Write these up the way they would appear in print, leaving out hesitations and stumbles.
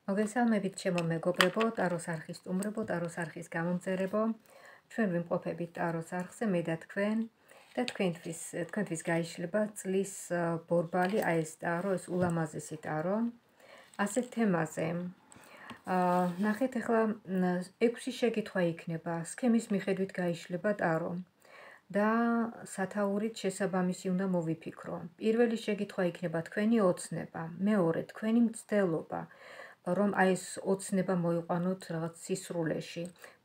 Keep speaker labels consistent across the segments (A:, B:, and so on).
A: მოგესალმებით ჩემო მეგობრებო, ტაროს არხის სტუმრებო, ტაროს არხის გამომწერებო. ჩვენ ვიმყოფებით ტაროს არხზე, მე და თქვენ და თქვენთვის გაიშლება წლის ბორბალი, აი ეს ტარო, ეს ულამაზესი ტარო. ასეთ თემაზე ნახეთ ახლა 6 შეკითხვა იქნება, სქემის მიხედვით გაიშლება ტარო. და სათაურით შესაბამისი უნდა მოვიფიქრო. პირველი შეკითხვა იქნება თქვენი ოცნება, მეორე თქვენი მცდელობა, რომ აი ეს ოცნება მოიყვანოთ რაღაც სისრულეში.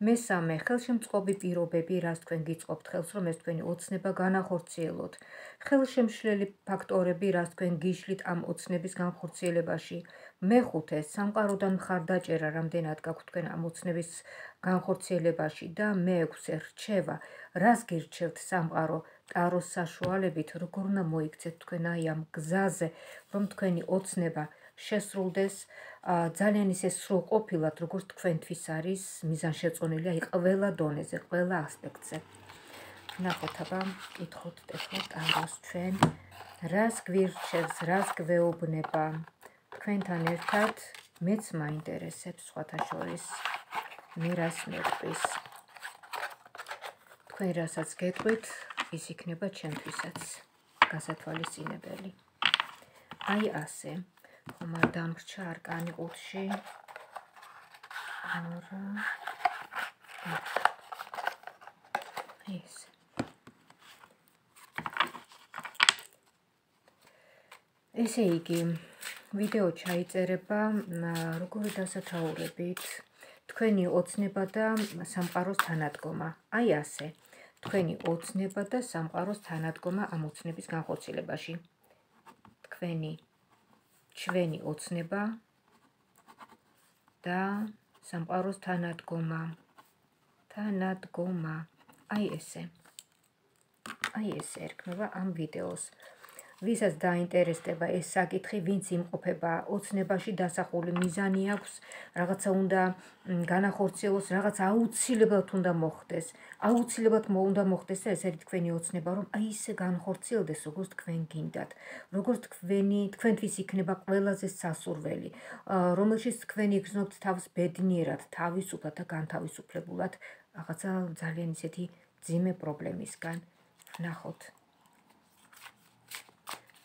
A: მესამე, ხელშემწყობი პირობები, რაც თქვენ გიწყობთ ხელს, რომ ეს თქვენი ოცნება განახორციელოთ. ხელშემშლელი ფაქტორები, რაც თქვენ გიშლით ამ ოცნების განხორციელებაში. მეხუთე, სამყაროდან მხარდაჭერა, რამდენად გაქვთ თქვენ ამ ოცნების განხორციელებაში და მეექვსე, რჩევა, რას გირჩევთ სამყარო ტაროს საშუალებით, როგორ უნდა მოიქცეთ თქვენ აი ამ გზაზე, რომ თქვენი ოცნება შესრულდეს ძალიან ისე სრულყოფილად, როგორც თქვენთვის არის მიზანშეწონილი, აი ყველა დონეზე, ყველა ასპექტზე. ნახოთ, აბა, კითხოთ ახლა ტაროს ჩვენ, რას გვირჩევს, რას გვეუბნება. თქვენთან ერთად მეც მაინტერესებს სხვათა შორის, მე რას მეთქვის. თქვენ რასაც გეტყვით, ის იქნება ჩემთვისაც გასათვალისწინებელი. აი ასე. ხომ არ დამრჩა არკანი ყუთში. ეს. ესე იგი, ვიდეო ჩაიწერება როგორი დასათაურებით, თქვენი ოცნება და სამყაროს თანადგომა. აი ასე. თქვენი ოცნება და სამყაროს თანადგომა ამ ოცნების განხორციელებაში. ჩვენი ოცნება და სამყაროს თანადგომა. აი ესე ერქმევა ამ ვიდეოს. ვისაც დაინტერესდება ეს საკითხი, ვინც იმყოფება ოცნებაში დასახული მიზანი აქვს, რაღაცა უნდა განახორციელოს, რაღაც აუცილებლად უნდა მოხდეს. აუცილებლად უნდა მოხდეს და ეს არის თქვენი ოცნება, რომ აი ისე განხორციელდეს, როგორც თქვენ გინდათ. როგორც თქვენთვის იქნება ყველაზე სასურველი, რომელშიც თქვენ იგრძნობთ თავს ბედნიერად, თავისუფლად და განთავისუფლებულად, რაღაცა ძალიან ისეთი ძიმე პრობლემისგან. ნახოთ.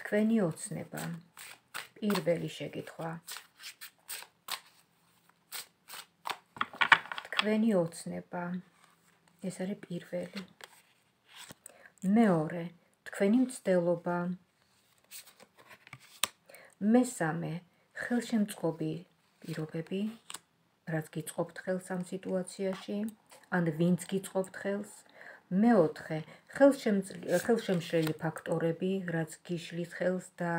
A: თქვენი ოცნება. პირველი შეკითხვა. თქვენი ოცნება. ეს არის პირველი. მეორე, თქვენი მცდელობა. მესამე, ხელშემწყობი პირობები, რაც გიწყობთ ხელს ამ სიტუაციაში, ან ვინც გიწყობთ ხელს. მეოთხე, ხელშემშლელი ფაქტორები, რაც გიშლით ხელს და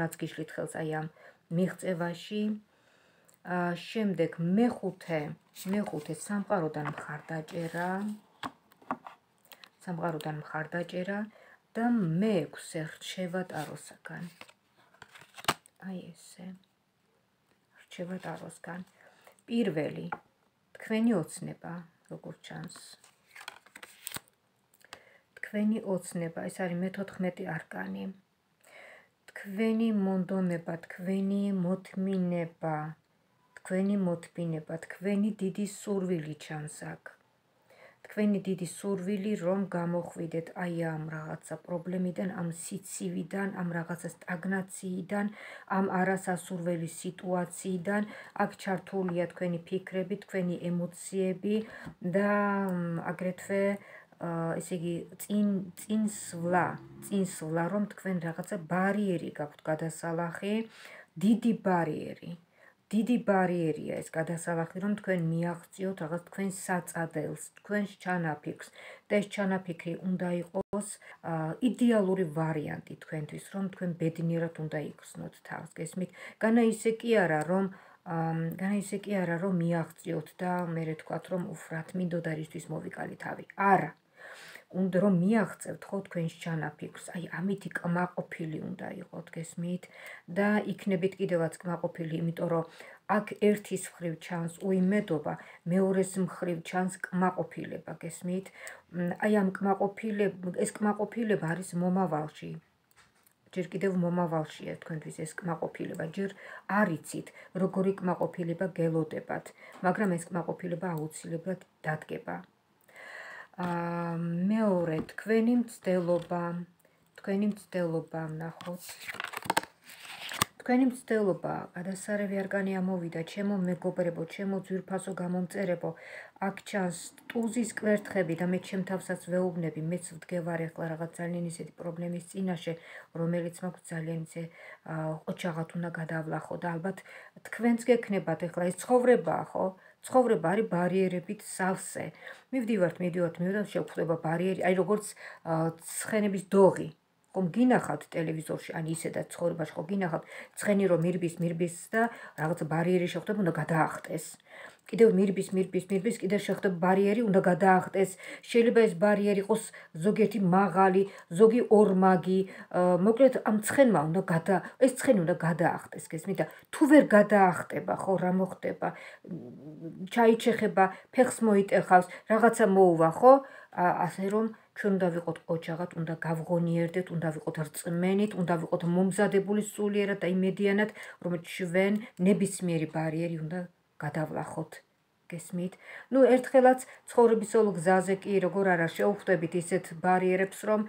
A: რაც გიშლით ხელს აი ამ მიღწევაში. შემდეგ მეხუთე, სამყაროდან მხარდაჭერა და მეექვსე, რჩევა ტაროსაგან. აი ესე. რჩევა ტაროსგან. პირველი, თქვენი ოცნება, როგორ ჩანს. თქვენი ოცნება, ეს არის მე-14 არკანი. თქვენი მონდომება, თქვენი მოთმინება, თქვენი დიდი სურვილი ჩანს აქ. თქვენი დიდი სურვილი, რომ გამოხვიდეთ აი ამ რაღაცა პრობლემიდან, ამ სიცივიდან, ამ რაღაცა სტაგნაციიდან, ამ არასასურველი სიტუაციიდან. აქ ჩართულია თქვენი ფიქრები, თქვენი ემოციები და აგრეთვე ესე იგი წინსვლა, რომ თქვენ რაღაცა ბარიერი გაქვთ გადასალახი, დიდი ბარიერია ეს გადასალახი, რომ თქვენ მიაღწიოთ რაღაც თქვენ საწადელს, თქვენს ჩანაფიქრს და ეს ჩანაფიქრი უნდა იყოს იდეალური ვარიანტი თქვენთვის, რომ თქვენ ბედნიერად უნდა იგრძნოთ თავს, გესმით? განა ისე კი არა, რომ მიაღწიოთ და მერე თქვათ, რომ უფრათ მინდოდა რისთვის მოვიკალი თავი. არა. უნდა რომ მიაღწევთ ხო თქვენს ჩანაფიქრს, აი ამითი კმაყოფილი უნდა იყოთ, გესმით? და იქნებით კიდევაც კმაყოფილი, იმიტომ რომ აქ ერთის მხრივ ჩანს უიმედობა, მეორეს მხრივ ჩანს კმაყოფილება, გესმით? აი ამ ეს კმაყოფილება არის მომავალში. ჯერ კიდევ მომავალშია თქვენთვის ეს კმაყოფილება, ჯერ არ იცით, როგორი კმაყოფილება გელოდებათ, მაგრამ ეს კმაყოფილება აუცილებლად დადგება. მეორე, თქვენი მცდელობა, ნახოთ. თქვენი მცდელობა, გადასარევი არკანი ამოვიდა, ჩემო მეგობრებო, ჩემო ძვირფასო გამომწერებო, აქ ჩანს ტუზის კვერთხები და მე ჩემ თავსაც ვეუბნები, მეც ვდგევარ ახლა რაღაც ძალიან ისეთი პრობლემის წინაშე, რომელიც მაქვს ძალიან ისე ოჩაღად უნდა გადავლახო და ალბათ თქვენც გექნებათ ახლა ეს ცხოვრებაა, ხო? ცხოვრება არის ბარიერებით სავსე. მივდივართ, შევხვდება ბარიერი, აი როგორც ცხენების დოღი. ხომ გინახავთ ტელევიზორში, ან ისედაც ცხოვრებაში ხო გინახავთ, ცხენი რომ მირბის და რაღაც ბარიერი შეხვდება, უნდა გადაახტეს. კიდევ მირბის, კიდევ შეხვდება ბარიერი, უნდა გადაახტეს. შეიძლება ეს ბარიერი იყოს ზოგიერთი მაღალი, ზოგი ორმაგი, მოკლედ ამ ცხენმა ეს ცხენი უნდა გადაახტეს, გესმით და თუ ვერ გადაახტება, ხო, რა მოხდება? ჩაიჩეხება, ფეხს მოიტეხავს, რაღაცა მოუვა, ხო? ასე რომ ჩვენ უნდა ვიყოთ ოჯახად, უნდა გავღონიერდეთ, უნდა ვიყოთ რწმენით, უნდა ვიყოთ მომზადებული სულიერად და იმედიანად, რომ ჩვენ ნებისმიერი ბარიერი უნდა გადავლახოთ. გესმით? ერთხელაც ცხოვრების όλო გზაზე კი როგორ არა შევხვდებით ისეთ ბარიერებს, რომ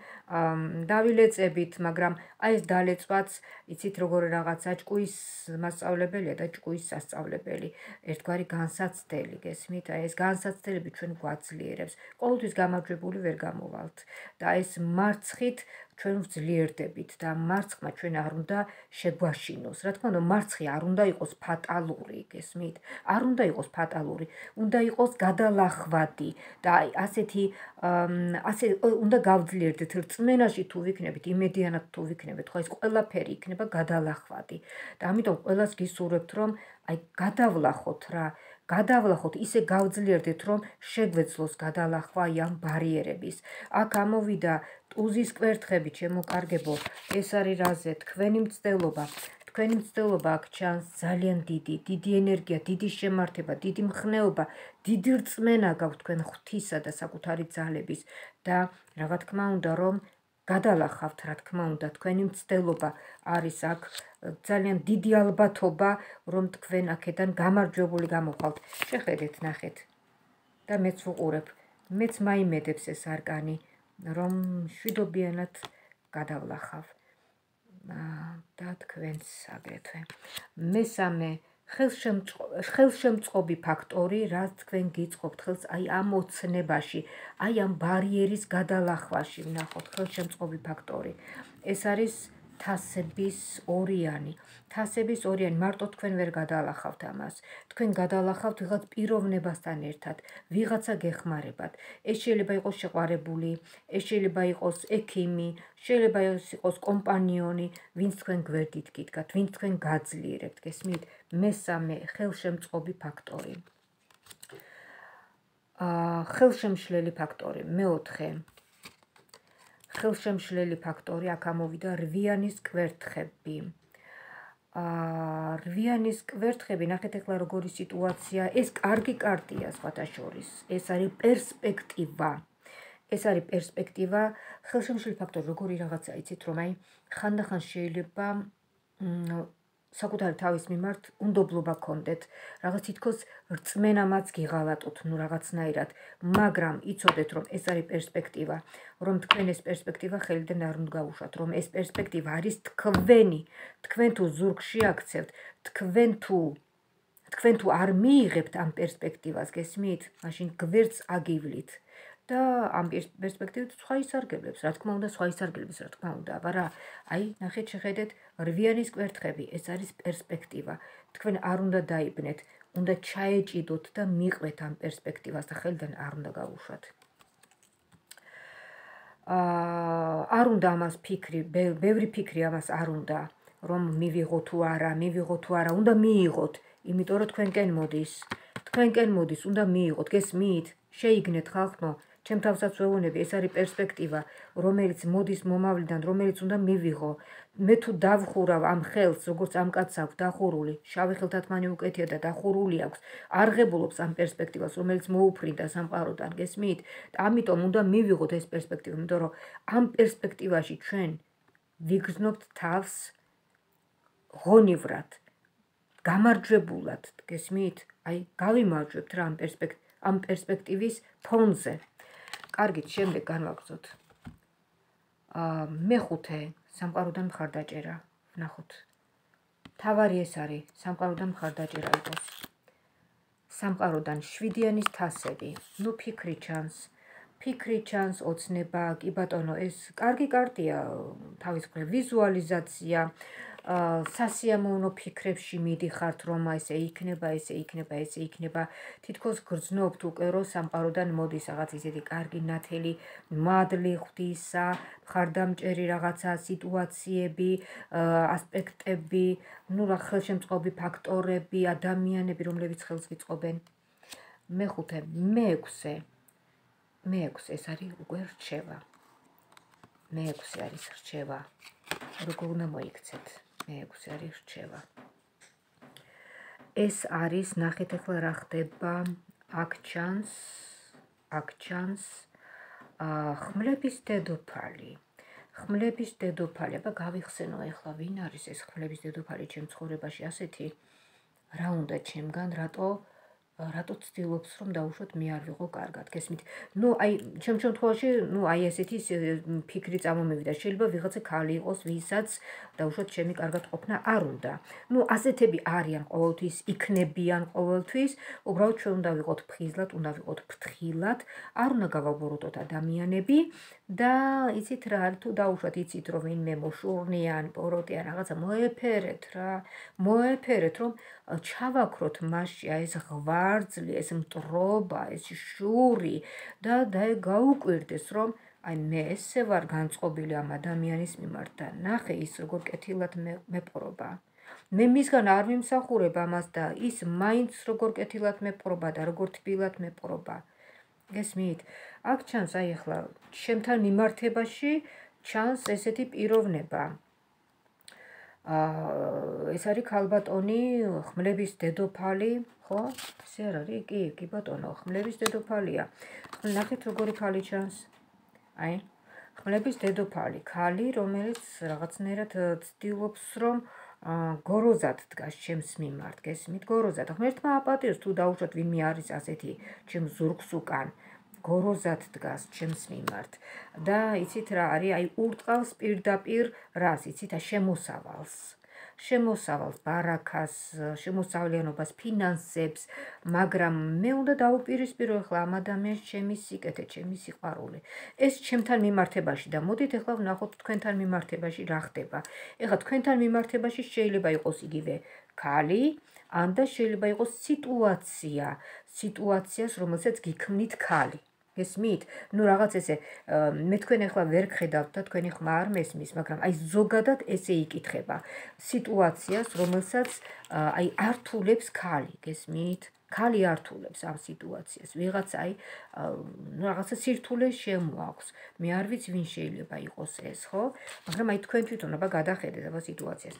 A: დავილეწებით, მაგრამ აი ეს დალეწვაც, იცით როგორ რაღაცა ჭკუის მასწავლებელია და ჭკუის სასწავლებელი, ერთგვარი განსაცდელი, გესმით? აი ეს განსაცდელები ჩვენ გვაძლიერებს. ყოველთვის გამარჯვებული ვერ გამოვალთ და ეს მარცხით ჩვენ ვძლიერდებით და მარცხმა ჩვენ არ უნდა შეგვაშინოს. რა თქმა უნდა, მარცხი არ უნდა იყოს ფატალური, გესმით? არ უნდა იყოს ფატალური, უნდა იყოს გადალახვადი და ასე უნდა გავძლიერდეთ რწმენაში თუ ვიქნებით, იმედიანად თუ ვიქნებით, ხო ეს ყველაფერი იქნება გადალახვადი. და ამიტომ ყველას გისურვებთ, რომ აი გადავლახოთ რა, გადავლახოთ, ისე გავძლიერდეთ, რომ შეგვეძლოს გადალახვა ამ ბარიერების. აქ ამოვიდა ტუზის კვერთხები, ჩემო კარგებო, ეს არის რაზე, თქვენი მცდელობა. თქვენი მცდელობა აქ ჩანს ძალიან დიდი ენერგია, დიდი შემართება, დიდი მხნეობა, დიდი რწმენა გაქვთ თქვენ ღვთისა და საკუთარი ძალების და რა თქმა უნდა, რომ გადალახავთ, რა თქმა უნდა, თქვენი მცდელობა არის აქ ძალიან დიდი ალბათობა, რომ თქვენ აქედან გამარჯვებული გამოვხვალთ. შეხედეთ, ნახეთ და მეც ვუყურებ, მეც მაიმედებს ეს არკანი, რომ შვიდობიანად გადავლახავ და თქვენს აგრეთვე. მესამე, ხელშემწყობი ფაქტორი, რაც თქვენ გიწყობთ ხელს აი ამ ოცნებაში, აი ამ ბარიერის გადალახვაში, ვნახოთ ხელშემწყობი ფაქტორი. ეს არის თასების ორიანი. თასების ორიანი, მარტო თქვენ ვერ გადალახავთ ამას. თქვენ გადალახავთ ვიღაც პიროვნებასთან ერთად, ვიღაცა გეხმარებათ. ეს შეიძლება იყოს შეყვარებული, ეს შეიძლება იყოს ექიმი, შეიძლება იყოს კომპანიონი, ვინც თქვენ გვერდით გიდგათ, ვინც თქვენ გაძლიერებთ, გესმით? მესამე, ხელშემწყობი ფაქტორი. ხელშემშლელი ფაქტორი. მეოთხე, ხელშემშლელი ფაქტორი, აქ ამოვიდა რვიანის კვერთხები. რვიანის კვერთხები, ნახეთ ახლა როგორი სიტუაცია, ეს კარგი კარტია სხვათა შორის, ეს არის პერსპექტივა. ეს არის პერსპექტივა, ხელშემშლელი ფაქტორი, როგორი რაღაცა, იცით, რომ აი ხანდახან შეიძლება საკუთარი თავის მიმართ უნდობლობა გქონდეთ, რაღაც თითქოს რწმენამაც გიღალატოთ, რაღაცნაირად, მაგრამ იცოდეთ, რომ ეს არის პერსპექტივა, რომ თქვენ ეს პერსპექტივა ხელიდან არ უნდა გაუშვათ, რომ ეს პერსპექტივა არის თქვენი, თქვენ თუ ზურგში აქცევთ, თქვენ თუ არ მიიღებთ ამ პერსპექტივას, გესმით? მაშინ გვერდს აგივლით. და ამ პერსპექტივით სხვა ისარგებლებს, რა თქმა უნდა, სხვა ისარგებლებს, რა თქმა უნდა, აბარა, აი, ნახეთ, შეხედეთ, რვიანის კვერთხები, ეს არის პერსპექტივა. თქვენ არ უნდა დაიბნეთ, უნდა ჩაეჭიდოთ და მიყვეთ ამ პერსპექტივას და ხელიდან არ უნდა გაუშვათ. არ უნდა ამას ფიქრი, ბევრი ფიქრი ამას არ უნდა, რომ მივიღო თუ არა, უნდა მიიღოთ, იმიტომ რომ თქვენკენ მოდის, უნდა მიიღოთ, გესმით? შეიგნეთ ხალხო, ჩემ თავსაც ვეუბნები, ეს არის პერსპექტივა, რომელიც მოდის მომავლიდან, რომელიც უნდა მივიღო. მე თუ დავხურავ ამ ხელს, როგორც ამ კაცს აქვს დახურული, შავი ხელთათმანი უკეთია და დახურული აქვს, არღებულობს ამ პერსპექტივას, რომელიც მოუფრინდა სამყაროდან, გესმით? ამიტომ უნდა მივიღოთ ეს პერსპექტივა, იმიტომ რომ ამ პერსპექტივაში ჩვენ ვიგრძნობთ თავს ღონივრად, გამარჯვებულად, გესმით? აი, გავიმარჯვებთ რა ამ პერსპექტივის ფონზე. კარგით, შემდეგ განვაგრძოთ. მეხუთე, სამყაროდან მხარდაჭერა. ნახოთ. თავარი ეს არის, სამყაროდან მხარდაჭერა იყოს. სამყაროდან 7-იანის თასები. ნუ ფიქრი ჩანს, ოცნება, კი ბატონო, ეს კარგი კარტია თავის მხრივ, ვიზუალიზაცია, სასიამოვნო ფიქრებში მიდიხართ, რომ ესე იქნება, თითქოს გრძნობთ უკვე, რომ სამყაროდან მოდის რაღაც ისეთი კარგი ნათელი მადლი ღვთისა, მხარდამჭერი რაღაცა სიტუაციები, ასპექტები, ნუ რა ხელშემწყობი ფაქტორები, ადამიანები, რომლებიც ხელს გიწყობენ. მეექვსე ეს არის უკვე რჩევა. მეექვსე არის რჩევა. როგორ უნდა მოიქცეთ? მეექვსე არის რჩევა. ეს არის, ნახეთ ახლა რა ხდება, აქ ჩანს ხმლების დედოფალი. აბა გავიხსენო ახლა ვინ არის ეს ხმლების დედოფალი ჩემ ცხოვრებაში ასეთი? რა უნდა ჩემგან, რატო ცდილობს რომ დაუშვოთ მე არ ვიყო კარგად, გესმით? ნუ აი ჩემ შემთხვევაში, ნუ აი ესეთი ფიქრი წამომივიდა, შეიძლება ვიღაცა ქალი იყოს, ვისაც დაუშვოთ ჩემი კარგად ყოფნა არ უნდა. ნუ ასეთები არიან ყოველთვის, იქნებიან ყოველთვის, უბრალოდ ჩვენ უნდა ვიყოთ ფხიზლად, უნდა ვიყოთ ფრთხილად, არ უნდა გავაბოროტოთ ადამიანები და იცით რა, თუ დაუშვათ იცით რომ ვინმე მოშურნიან, პოროტიან, რაღაცა მოეფერეთ, რომ ჩავაქროთ მასში ეს ღვარძლი, ეს მტრობა, ეს შური და გაუკვირდეს, რომ აი მე ესე ვარ განწყობილი ამ ადამიანის მიმართ და ნახე ის როგორ კეთილად მეპყრობა. მე მისგან არ ვიმსახურებ ამას და ის მაინც როგორ კეთილად მეპყრობა და როგორ თბილად მეპყრობა. გესმით? აქ ჩანს აი ახლა ჩემთან მიმართებაში ჩანს ესეთი პიროვნება. ეს არის ქალბატონი, ხმლების დედოფალი, ხო? ესე არ არის? კი ბატონო, ხმლების დედოფალია. ნახეთ როგორი ქალი ჩანს. აი, ხმლების დედოფალი, ქალი, რომელიც რაღაცნაირად ცდილობს, რომ გოროზად დგას ჩემს მიმართ, გესმით? გოროზად. ღმერთმა აპატიოს თუ დაუშვათ ვინმე არის ასეთი ჩემ ზურგს უკან. გოროზად დგას ჩემს მიმართ და იცით რა არის, აი ურტყავს პირდაპირ რას, იცით, შემოსავალს, ბარაქას, შემოსავლიანობას, ფინანსებს, მაგრამ მე უნდა დავუპირისპირო ახლა ამ ადამიანს ჩემი სიკეთე, ჩემი სიყვარული. ეს ჩემთან მიმართებაში და მოდით ახლა ვნახოთ თქვენთან მიმართებაში რა ხდება. ეხლა თქვენთან მიმართებაში შეიძლება იყოს იგივე ქალი, ან და შეიძლება იყოს სიტუაციას, რომელსაც გიქმნით ქალი. გესმით? ნუ რაღაც ესე მე თქვენ ახლა ვერ გხედავთ და თქვენი ხმა არ მესმის, მაგრამ აი ზოგადად ესე იკითხება. სიტუაციას, რომელსაც აი ართულებს ქალი, გესმით? ქალი ართულებს ამ სიტუაციას. ვიღაც აი რაღაცა სირთულე შემოაქვს. მე არ ვიცი ვინ შეიძლება იყოს ეს, ხო? მაგრამ აი თქვენ თვითონ აბა გადახედეთ აბა სიტუაციას.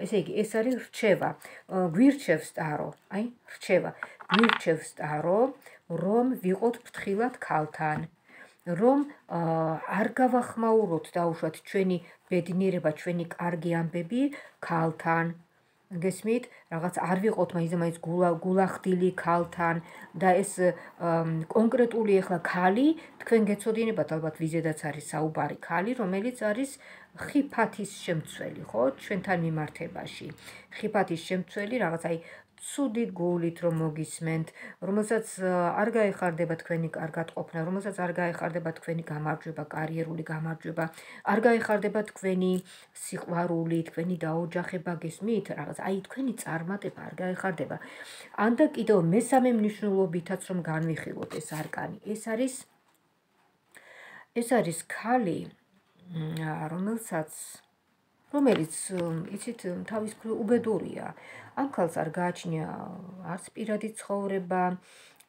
A: ესე იგი, ეს არის რჩევა. გვირჩევს ტარო, აი, რჩევა. გვირჩევს ტარო, რომ ვიყოთ ფრთხილად ქალთან, რომ არ გავახმაუროთ დაუშვათ ჩვენი ბედნიერება, ჩვენი კარგი ამბები ქალთან. გესმით? რაღაც არ ვიყოთ მაინც გულახდილი ქალთან და ეს კონკრეტული ახლა ქალი, თქვენ გეცოდინებათ ალბათ ვიზედაც არის საუბარი ქალი, რომელიც არის ხიფათის შემცველი, ხო? ჩვენთან მიმართებაში. ხიფათის შემცველი რაღაც აი ცუდი გულით რომ მოგისმენთ, რომელსაც არ გაეხარდება თქვენი კარგად ყოფნა, რომელსაც არ გაეხარდება თქვენი გამარჯვება, კარიერული გამარჯვება, არ გაეხარდება თქვენი სიყვარული, თქვენი დაოჯახება, გესმით? რაღაც აი თქვენი წარმატება არ გაეხარდება. ან და კიდევ მესამე მნიშვნელობითაც რომ განვიხილოთ ეს არკანი. ეს არის ქალი, რომელიც იცით თავის მხრივ უბედურია. ამ ქალს არ გააჩნია არც პირადი ცხოვრება,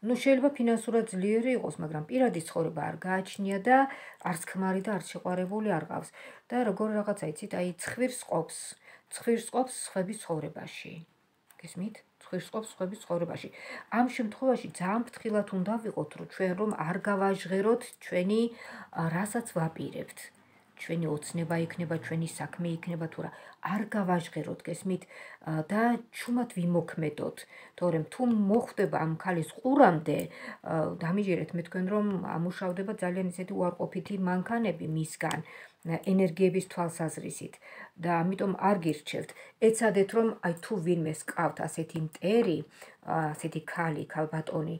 A: ნუ შეიძლება ფინანსურად ძლიერი იყოს, მაგრამ პირადი ცხოვრება არ გააჩნია და არც ქმარი და არც შეყვარებული არ ყავს. და როგორ რაღაცა იცით, აი ცხვირს ყოფს სხვების ცხოვრებაში. გესმით? ცხვირს ყოფს სხვების ცხოვრებაში. ამ შემთხვევაში ძალიან ფრთხილად უნდა ვიყოთ, რომ ჩვენ არ გავაჟღეროთ ჩვენი რასაც ვაპირებთ. ჩვენი ოცნება იქნება, ჩვენი საქმე იქნება თუ რა, არ გავაჟღეროთ გესმით და ჩუმად ვიმოქმედოთ, თორემ თუ მოხვდება ამ ქალის ყურამდე, დამიჯერეთ მე თქვენ რომ ამუშავდება ძალიან ისეთი უარყოფითი მანქანები მისგან, ენერგიების თვალსაზრისით და ამიტომ არ გირჩევთ. ეცადეთ რომ აი თუ ვინმეს ყავთ ასეთი მტერი, ასეთი ქალი, ქალბატონი,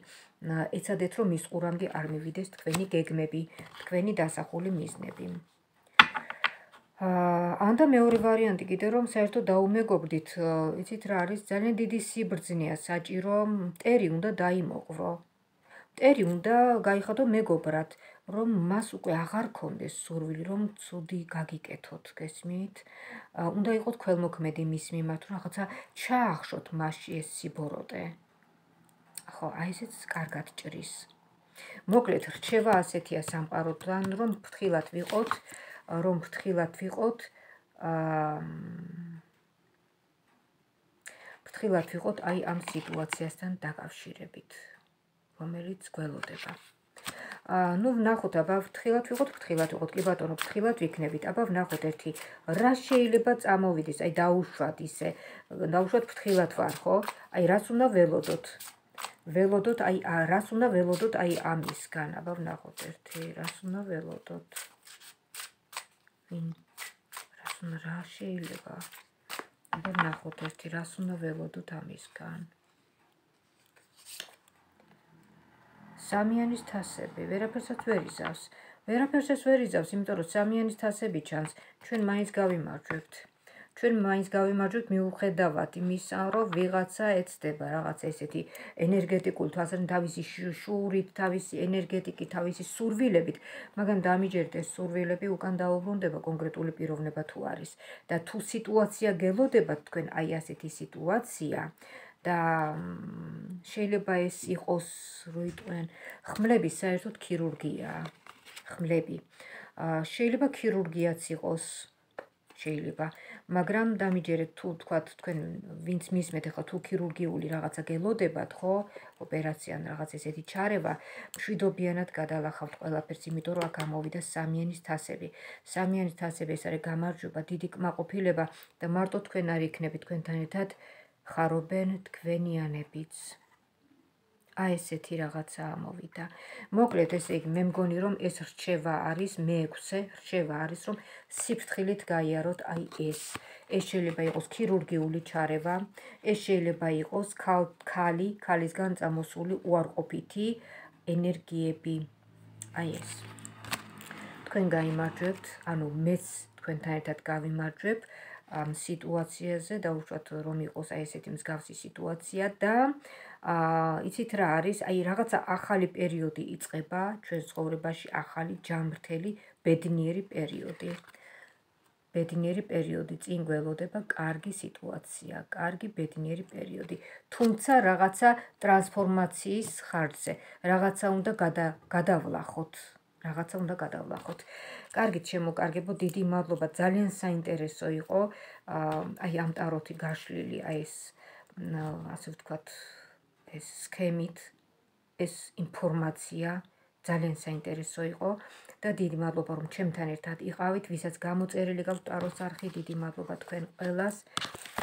A: ეცადეთ რომ მის ყურამდე არ მივიდეს თქვენი გეგმები, თქვენი დასახული მიზნები. ანდა მეორე ვარიანტი კიდე რომ საერთოდ დაუმეგობრდით, იცით რა არის, ძალიან დიდი სიბრძნეა საჭირო, მტერი უნდა დაიმოყვრო. მტერი უნდა გაიხადო მეგობრად, რომ მას უკვე აღარ ქონდეს სურვილი, რომ ცუდი გაგიკეთოთ, გესმით? უნდა იყოთ ქველმოქმედი მის მიმართ, რომ რაღაცა ჩაახშოთ მასში ეს სიბოროტე. ხო, აი ესეც კარგად ჭრის. მოკლედ, რჩევა ასეთია სამყაროდან, რომ ფრთხილად ვიყოთ აი ამ სიტუაციასთან დაკავშირებით, რომელიც გველოდება. ნუ ვნახოთ, აბა ფრთხილად ვიყოთ, კი ბატონო, ფრთხილად ვიქნებით, აბა ვნახოთ ერთი, რა შეიძლება წამოვიდეს, აი დაუშვათ ისე, დაუშვათ ფრთხილად ვარ, ხო? აი რას უნდა ველოდოთ? რას უნდა ველოდოთ აი ამისგან, აბა ვნახოთ ერთი, რას უნდა ველოდოთ? რა შეიძლება? აბა ვნახოთ ერთი, რას უნდა ველოდოთ ამისგან? სამიანის თასები, ვერაფერსაც ვერ იზავს, იმიტომ რომ სამიანის თასები ჩანს, ჩვენ მაინც გავიმარჯვებთ მიუხედავად იმისა, რომ ვიღაცა ეცდება რაღაცა ესეთი ენერგეტიკული თვალსაზრისით, თავისი შუურით, თავისი ენერგეტიკით, თავისი სურვილებით, მაგრამ დამიჯერეთ ეს სურვილები უკან დაუბრუნდება კონკრეტული პიროვნება თუ არის და თუ სიტუაცია გელოდებათ თქვენ აი ასეთი სიტუაცია და შეიძლება ეს იყოს, როიტყვენ, ხმლები საერთოდ ქირურგიაა, ხმლები. შეიძლება ქირურგიაც იყოს, შეიძლება, მაგრამ დამიჯერეთ თუ თქვათ თქვენ ვინც მისმეთ ახლა თუ ქირურგიული რაღაცა გელოდებათ, ხო, ოპერაცია ან რაღაც ესეთი ჩარევა, მშვიდობიანად გადალახავთ ყველაფერს, იმიტომ რომ აქ გამოვიდა სამიანის თასები. სამიანის თასები ეს არის გამარჯვება, დიდი კმაყოფილება და მარტო თქვენ არ იქნებით თქვენთან ერთად ხარობენ თქვენიანებიც. აი ესეთი რაღაცა ამოვიდა. მოკლედ ესე იგი მე მგონი რომ ეს რჩევა არის, მე-6 რჩევა არის რომ სიფრთხილით გაიაროთ აი ეს. ეს შეიძლება იყოს ქირურგიული ჩარევა, ეს შეიძლება იყოს ქალისგან წამოსული უარყოფითი ენერგიები. აი ეს. თქვენ გაიმარჯვებთ, ანუ მეც თქვენთან ერთად გავიმარჯვებ ამ სიტუაციაზე, დაუშვათ რომ იყოს აი ესეთი მსგავსი სიტუაცია და იცით რა არის, აი რაღაცა ახალი პერიოდი იწყება ჩვენ ცხოვრებაში, ახალი ჯანმრთელი ბედნიერი პერიოდი. ბედნიერი პერიოდი წინ გველოდება, კარგი სიტუაცია, კარგი ბედნიერი პერიოდი. თუმცა რაღაცა ტრანსფორმაციის ხარჯზე, რაღაცა უნდა გადავლახოთ. კარგით, შემოკარგებო, დიდი მადლობა, ძალიან საინტერესო იყო აი ამ ტაროთი გაშლილი, აი ეს ასე ვთქვათ, ეს სქემით, ეს ინფორმაცია ძალიან საინტერესო იყო და დიდი მადლობა რომ ჩემთან ერთად იყავით, ვისაც გამოწერილი გაქვთ ტაროს არხი, დიდი მადლობა თქვენ ყველას,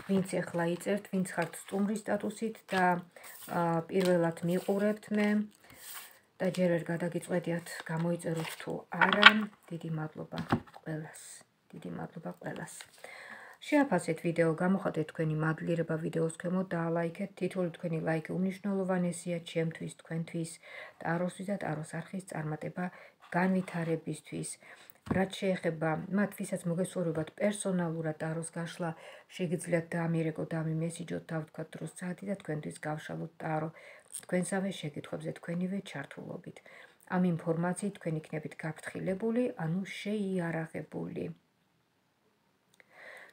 A: ვინც ახლა იწერთ, ვინც ხართ სტუმრის სტატუსით და პირველად მიყურებთ მე და ჯერ ვერ გადაგიწყვეტიათ გამოიწეროთ თუ არა, დიდი მადლობა ყველას. შეაფასეთ ვიდეო, გამოხატეთ თქვენი მადლიერება ვიდეოს ქვემოთ, დაალაიქეთ, თითოეული თქვენი ლაიქი უმნიშვნელოვანესია ჩემთვის, თქვენთვის, ტაროსთვის და ტაროს არხის წარმატება განვითარებისთვის. რაც შეეხება მათ, ვისაც მოგესურვებათ პერსონალურად ტაროს გაშლა, შეგიძლიათ დაამიერეკოთ, დამიმესიჯოთ, დავთქვათ დროს საათი და თქვენთვის გავშალოთ ტარო თქვენსავე შეკითხვებზე თქვენივე ჩართულობით. ამ ინფორმაციით თქვენ იქნებით გაფრთხილებული, ანუ შეიარაღებული.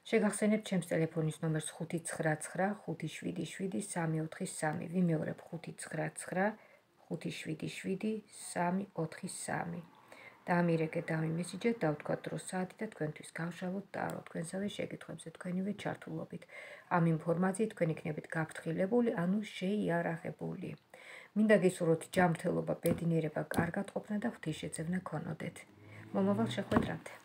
A: შეგახსენებთ ჩემს ტელეფონის ნომერს 599577343. ვიმეორებ 599577343. დაამიერეკეთ, დამიმესიჯეთ, დავთქვათ დროს საათი და თქვენთვის გავშალოთ ტარო თქვენსავე შეკითხვებზე თქვენივე ჩართულობით. ამ ინფორმაციით თქვენ იქნებით გაფრთხილებული, ანუ შეიარაღებული. მინდა გისურვოთ ჯანმრთელობა, ბედნიერება, კარგად ყოფნა და ღვთისშეწევნა გქონოდეთ. მომავალ შეხვედრამდე.